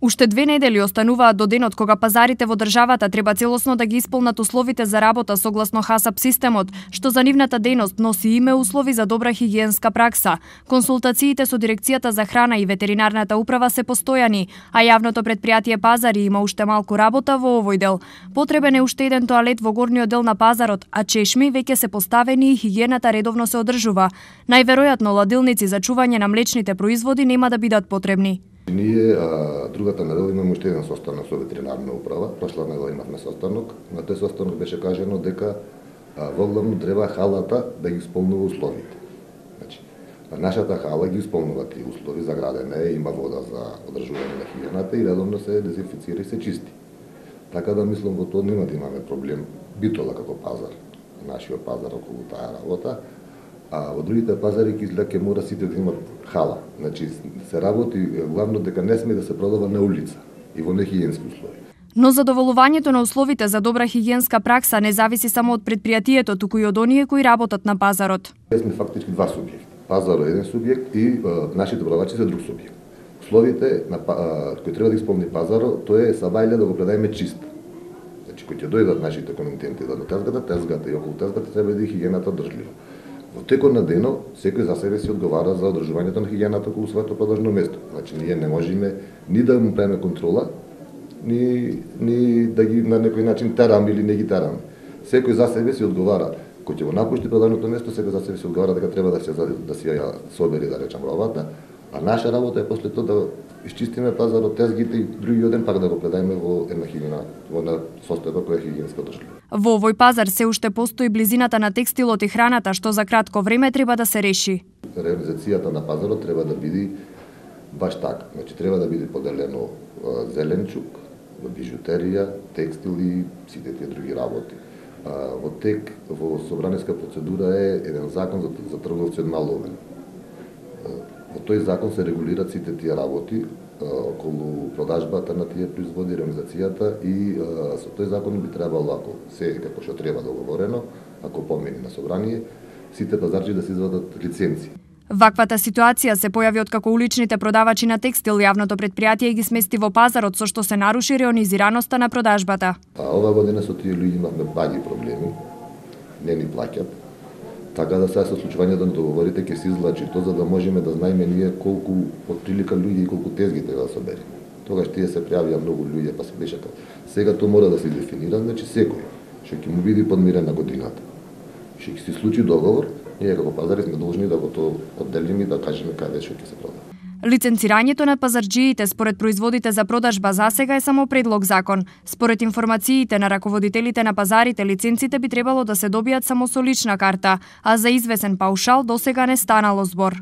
Уште 2 недели остануваат до денот кога пазарите во државата треба целосно да ги исполнат условите за работа согласно ХАСАП системот, што за нивната дејност носи име услови за добра хигиенска пракса. Консултациите со Дирекцијата за храна и ветеринарната управа се постојани, а јавното предпријатие Пазари има уште малку работа во овој дел. Потребен е уште еден тоалет во горниот дел на пазарот, а чешми веќе се поставени и хигиената редовно се одржува. Најверојатно ладилници за чување на млечните производи нема да бидат потребни. Ние другата недела имаме уште еден состанок со ветеринарна управа. Прошла недела имавме состанок. На тој состанок беше кажано дека во главно треба халата да ги исполнува условите. Значи, нашата хала ги исполнува тие услови за градене, има вода за одржување на хигиената и редовно се дезинфицира и се чисти. Така да мислам во тоа нема да имаме проблем. Битола како пазар, нашиот пазар околу таа работа. А во другите пазари ќе мора сите да имат хала. Значи се работи главно дека не сме да се продава на улица и во нехигиенски услови. Но задоволувањето на условите за добра хигиенска пракса не зависи само од предпријатието, туку и од оние кои работат на пазарот. Ние сме фактички два субјекти. Пазарот е еден субјект и нашите продавачи се друг субјект. Условите кои треба да исполни пазарот, тоа е сабајле да го предаеме чист. Значи кои ќе дојдат нашите комитенти да до тезгата и околу тезгата треба да е хигиената одржлива. Во текот на денот, секој за себе си одговара за одржувањето на хигиената околу своето продажно место. Значи, ние не можеме ни да му правиме контрола, ни да ги на некој начин тераме или не ги тераме. Секој за себе си одговара. Кој ќе го напушти продажното место, секој за себе си одговара дека треба да се ја собери, да речам, робата, а наша работа е после тоа да исчистиме пазарот, тезгите и другиот ден пак да го предаеме во една хигиена, во една состојба која е хигиенска одржлива. Во овој пазар се уште постои близината на текстилот и храната, што за кратко време треба да се реши. Реализацијата на пазарот треба да биде баш така. Значи треба да биде поделено зеленчук, бижутерија, текстил и сите тие други работи. Во тек, во собраниска процедура е еден закон за трговци од мал обем. Во тој закон се регулираат сите тие работи околу продажбата на тие производи, реализацијата и со тој закон би требало, ако се како што треба договорено, ако помине на собрание, сите пазарчи да се извадат лиценци. Ваквата ситуација се појави откако уличните продавачи на текстил јавното предпријатие ги смести во пазарот, со што се наруши реонизираноста на продажбата. Ова година со тие луѓе имавме баги проблеми, не ни плаќат. Така да сега со случувањето на договорите ќе се излачи тоа за да можеме да знаеме ние колку отприлика луѓе и колку тезги треба да собереме. Тогаш тие се пријавија многу луѓе, па се беше како. Сега тоа мора да се дефинира, значи секој што ќе му биде подмирен на годината. Што ќе се случи договор, ние како пазари сме должни да го тоа одделиме и да кажеме каде што ќе се продава. Лиценцирањето на пазарџиите според производите за продажба засега е само предлог закон. Според информациите на раководителите на пазарите, лиценците би требало да се добијат само со лична карта, а за извесен паушал досега не станало збор.